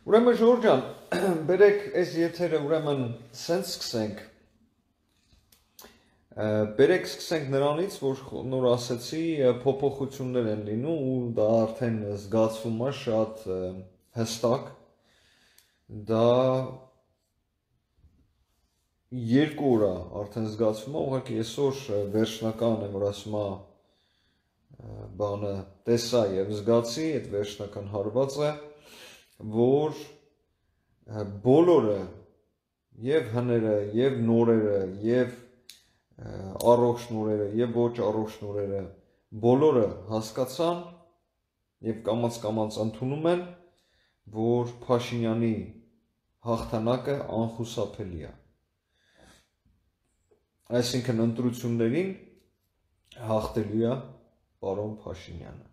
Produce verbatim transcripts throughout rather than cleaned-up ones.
Ուրեմն Ժորժ ջան, բերեք այս եթերը ուրեմն սենց սկսենք։ Բերեք սկսենք նրանից, որ նոր ասեցի, փոփոխություններ են լինում ու դա արդեն զգացվում է շատ հստակ։ Դա երկու օր է արդեն զգացվում է, ուղղակի այսօր վերջնական եմ, որ ասում է բանը տեսա եւ զգացի, այդ վերջնական հարվածը, որ բոլորը եւ հները, եւ նորերը, եւ առողջ նորերը, եւ ոչ առողջ նորերը, բոլորը հասկացան եւ կամաց-կամաց ընդունում են, որ Փաշինյանի հաղթանակը անխուսափելի է։ Այսինքն ընտրություններին հաղթելու է պարոն Փաշինյանը։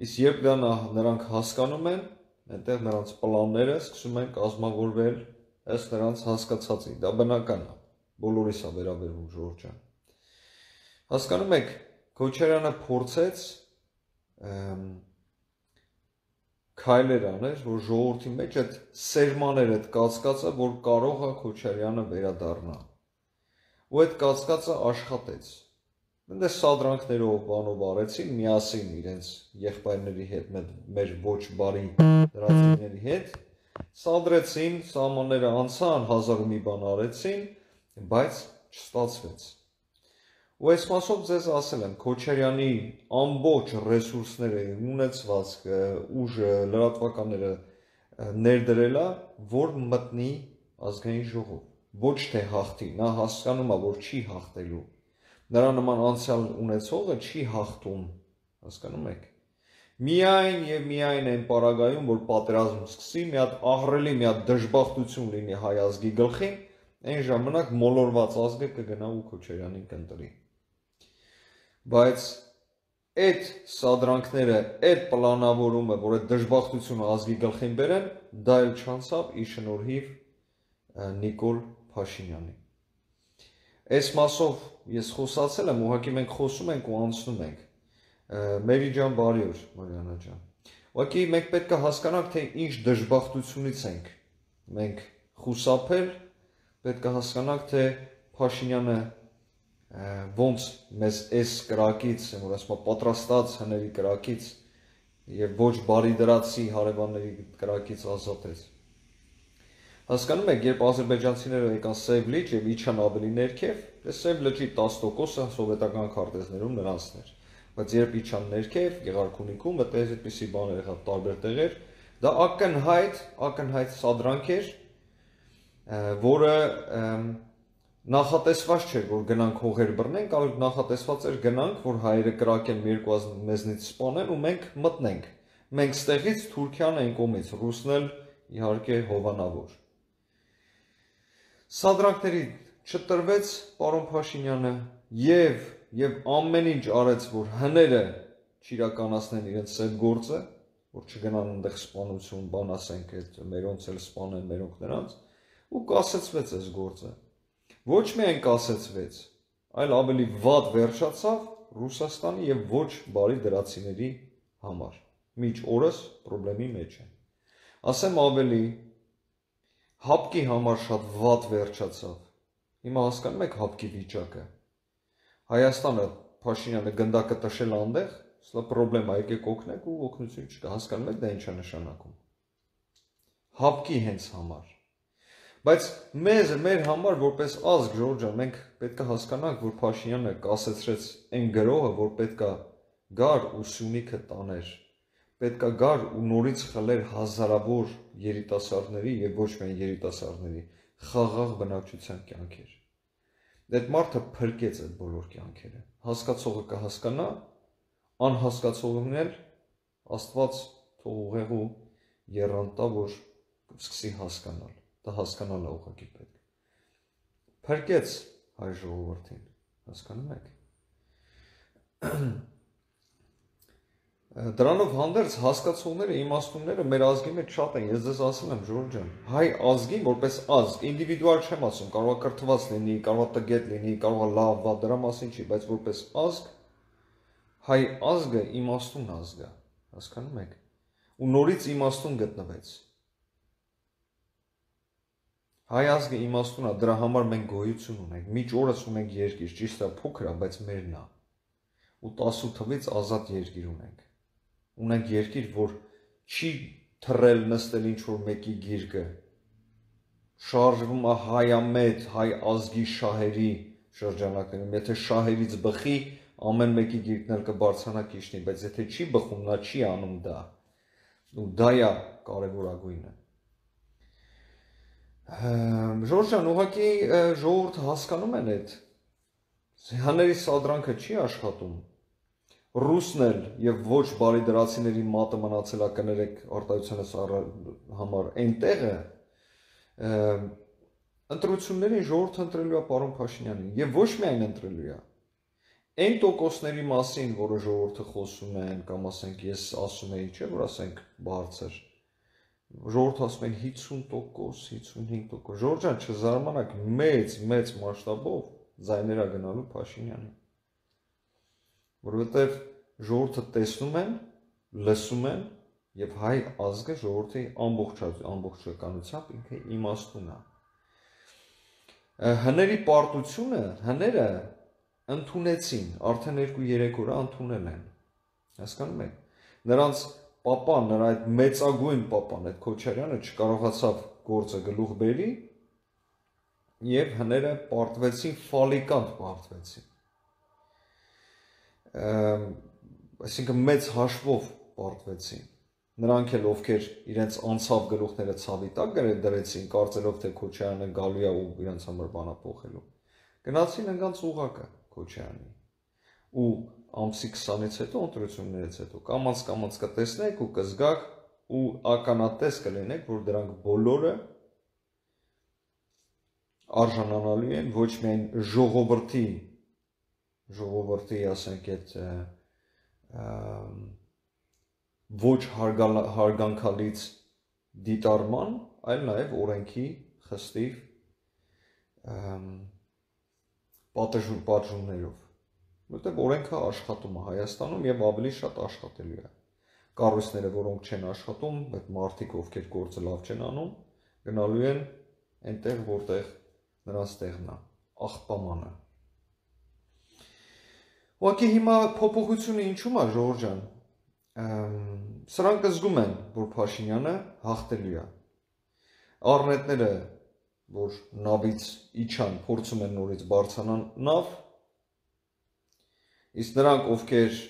Իսկ երբ դա նրանք հասկանում են, այնտեղ նրանց պլանները սկսում են կազմավորվել ըստ նրանց հասկացածի, դա բնական է, բոլորիս է վերաբերվում Ժորժ ջան։ Հասկանում եք, Քոչարյանը փորձեց քայլեր աներ, որ ժողովրդի մեջ այդ սերմաները, այդ կասկածը, որ կարող է Քոչարյանը վերադառնա։ Ու այդ կասկածը աշխատեց։ Այնտեղ սադրանքներով բանով արեցին միասին իրենց եղբայրների հետ, մեր ոչ բարի դրացիների հետ, սադրեցին, սահմանները անցան, հազար ու մի բան արեցին, բայց չստացվեց։ Ու այս մասով ձեզ ասել եմ, Քոչարյանի ամբողջ ռեսուրսները, ունեցվածքը, ուժը, լրատվականները ներդրել է, որ մտնի ազգային ժողով, ոչ թե հաղթի, նա հասկանում է, որ չի հաղթելու։ Նրա նման անցյալ ունեցողը չի հաղթում, հասկանում եք։ Միայն եւ միայն այն պարագայում, որ պատերազմ սկսի, մի հատ ահռելի, մի հատ դժբախտություն լինի հայ ազգի գլխին, այն ժամանակ մոլորված ազգը կգնա ու Քոչարյանին կընտրի։ Բայց այդ սադրանքները, այդ պլանավորումը, որ այդ դժբախտությունը ազգի գլխին բերեն, դա էլ չանցավ ի շնորհիվ Նիկոլ Փաշինյանի։ Այս մասով ես խոսացել եմ, ուղղակի մենք խոսում ենք ու անցնում ենք։ Մերի ջան, բարի օր, Մարիանա ջան։ Ուղղակի մենք պետք է հասկանանք, թե ինչ դժբախտությունից ենք մենք խուսափել, պետք է հասկանանք, թե Փաշինյանը ոնց մեզ այս կրակից, որ ասում եմ, պատրաստած հների կրակից եւ ոչ բարի դրացի հարևանների կրակից ազատեց։ Հասկանում եք, երբ ադրբեջանցիները եկան Սև լիճ եւ իջան ավելի ներքև, Սև լճի տասը տոկոսը սովետական քարտեզներում նրանցն էր, բայց երբ իջան ներքև, Գեղարքունիքում, այդպես այդպիսի բաներ եղավ տարբեր տեղեր, դա ակնհայտ, ակնհայտ սադրանք էր, որը նախատեսված չէր, որ գնանք հողեր բռնենք, այլ նախատեսված էր գնանք, որ հայերը կրակեն մի երկու ազգ մեզնից սպանեն ու մենք մտնենք։ Մենք ստեղից Թուրքիան այն կողմից, ռուսն էլ իհարկե հովանավոր։ Սադրանքների չտրվեց պարոն Փաշինյանը եւ եւ ամեն ինչ արեց, որ հները չիրականացնեն իրենց սև գործը, որ չգնան այնտեղ սպանություն, բան ասենք, այդ մերոնց էլ սպանեն, մերոնք նրանց, ու կասեցվեց այս գործը։ Ոչ միայն կասեցվեց, այլ ավելի վատ վերջացավ Ռուսաստանի եւ ոչ բարի դրացիների համար։ Միջ օրս խնդրի մեջ են։ Ասեմ ավելի, հապկի համար շատ վատ վերջացավ։ Հիմա հասկանում եք հապկի վիճակը։ Հայաստանը Փաշինյանը գնդակը տշել այնտեղ, սա խնդրեմ, եկեք օգնեք ու օգնություն չկա, հասկանում եք դա ինչ է նշանակում։ Հապկի հենց համար։ Բայց մեզ, մեր համար որպես ազգ, Ժորժ ջան, մենք պետք է հասկանանք, որ Փաշինյանը կասեցրեց այն գրողը, որ պետք է գար ու Սյունիքը տաներ, պետք է գար ու նորից խլեր հազարավոր երիտասարդների եւ ոչ միայն երիտասարդների խաղաղ բնակչության կյանքեր։ Այդ մարդը փրկեց այդ բոլոր կյանքերը։ Հասկացողը կհասկանա, անհասկացողն էլ Աստված թող ուղեղու եռանտա, որ սկսի հասկանալ։ Դա հասկանալը ուղղակի պետք։ Փրկեց հայ ժողովրդին, հասկանում եք։ Դրանով հանդերձ հասկացողները, իմաստունները մեր ազգի մեջ շատ են, ես ձեզ ասել եմ, Ժորժ ջան, հայ ազգին որպես ազգ, ինդիվիդուալ չեմ ասում, կարող է կրթված լինի, կարող է տգետ լինի, կարող է լավ, վատ, դրա մասին չի, բայց որպես ազգ, հայ ազգը իմաստուն ազգ է, հասկանում եք։ Ու նորից իմաստուն գտնվեց։ Հայ ազգը իմաստուն է, դրա համար մենք գոյություն ունենք, միջ օրս ունենք երկիր, ճիշտ է փոքր է, բայց մերն է, ու տասու թվից ազատ երկիր ունենք, ունենք երկիր, որ չի թռել նստել ինչ-որ մեկի գիրկը, շարժվում է հայամետ, հայ ազգի շահերի շրջանակներում, եթե շահերից բխի, ամեն մեկի գիրկն էլ կբարձրանա կիշնի, բայց եթե չի բխում, նա չի անում դա, ու դա է կարևորագույնը։ Ժորժ ջան, ուղղակի ժողովուրդը հասկանում են այդ հների սադրանքը չի աշխատում, ռուսն էլ եւ ոչ բարիդրացիների մատը մնացել է կներեք արտահայտությունս համար այնտեղը ընտրություններին ժողովուրդը ընտրելու է պարոն Փաշինյանին եւ ոչ միայն ընտրելու է այն տոկոսների մասին, որը ժողովուրդը խոսում են կամ ասենք ես ասում եի, չէ՞ որ ասենք բարձր ժողովուրդը ասում են հիսուն տոկոս, հիսունհինգ տոկոս, Ժորժ ջան, չզարմանաք, մեծ, մեծ մասշտաբով ձայներ է գնալու Փաշինյանին, որովհետև ժողովուրդը տեսնում են, լսում են եւ հայ ազգը ժողովրդի ամբողջականությամբ ինքը իմաստուն է։ Հների պարտությունը, հները ընդունեցին, արդեն երկու-երեք օր ընդունել են, հասկանում եք, նրանց պապան, նրա այդ մեծագույն պապան, այդ Քոչարյանը չկարողացավ գործը գլուխ բերի եւ հները պարտվեցին, ֆալիկանտ պարտվեցին, այսինքն մեծ հաշվով պարտվեցին, նրանք էլ ովքեր իրենց անցավ գլուխները ցավի տակ դրեցին, կարծելով թե Քոչարյանը գալու է ու իրենց համար բանա փոխելու, գնացին ընկած ուղակը Քոչարյանի ու ամսի քսանից հետո ընտրություններից հետո կամաց-կամաց կտեսնեք ու կզգաք ու ականատես կլինեք, որ դրանք բոլորը արժանանալու են ոչ միայն ժողովրդի, ժողովրդի, ասենք, այդ ոչ հարգանքալից դիտարման, այլ նաև օրենքի խստիվ պատժումներով, որտեղ օրենքը աշխատում է Հայաստանում եւ ավելի շատ աշխատելու է։ Կառույցները, որոնք չեն աշխատում, այդ մարդիկ, ովքեր գործը լավ չեն անում, գնալու են այնտեղ, որտեղ նրանց տեղն է, աղբամանը։ Ուղղակի հիմա փոփոխությունը ինչու՞մ է, Ժորժ ջան։ Սրանք զգում են, որ Փաշինյանը հաղթելու է։ Առնետները, որ նավից իջան, փորձում են նորից բարձրանալ նավ, իսկ նրանք, ովքեր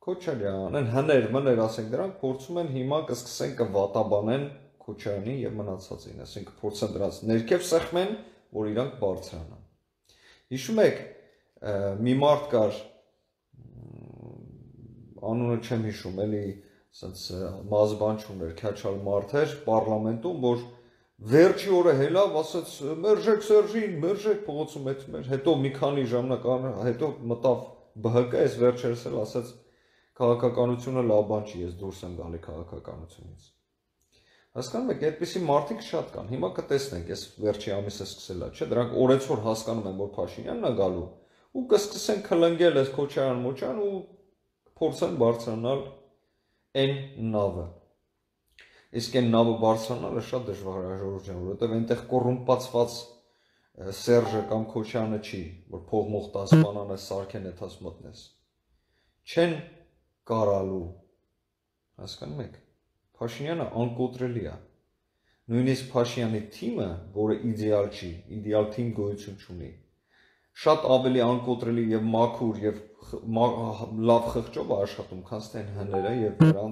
Քոչարյան են, հներ, մներ, ասենք, նրանք փորձում են հիմա կսկսեն կվատաբանեն Քոչարյանի եւ մնացածին, ասենք փորձեն դրանց ներքև սեղմեն, որ իրանք բարձրանան։ Հիշում եք, մի մարդ կար, անունը չեմ հիշում, էլի, ասենց մազբան չուներ, քյաչալ մարդ էր պարլամենտում, որ վերջի օրը հելավ, ասաց մերժեք Սերժին, մերժեք փողոցում էթում էր, հետո մի քանի ժամանակ հետո մտավ Բ Հ Կ, այս վերջերս էլ ասաց քաղաքականությունը լավ բան չի, ես դուրս եմ գալի քաղաքականությունից։ Հասկանում եք, այդպիսի մարդիկ շատ կան, հիմա կտեսնենք, ես վերջի ամիսը սկսել է, չէ, դրանք օրեցօր հասկանում են, որ Փաշինյանն է գալու, ու կսկսեն քլնգել այս Քոչարյան Մոչան ու փորձեն բարձրանալ այն նավը։ Իսկ այն նավը բարձրանալը շատ դժվար է, Ժորժ ջան, որովհետև այնտեղ կոռումպացված Սերժը կամ Քոչյանը չի, որ փողմող տաս բանանը սարքեն էթաս մտնես։ Չեն կարալու, հասկանում եք, Փաշինյանը անկոտրելի է։ Նույնիսկ Փաշինյանի թիմը, որը իդեալ չի, իդեալ թիմ գոյություն չունի, շատ ավելի անկոտրելի եւ մաքուր եւ լավ խղճով է աշխատում, քան թե հները եւ նրանց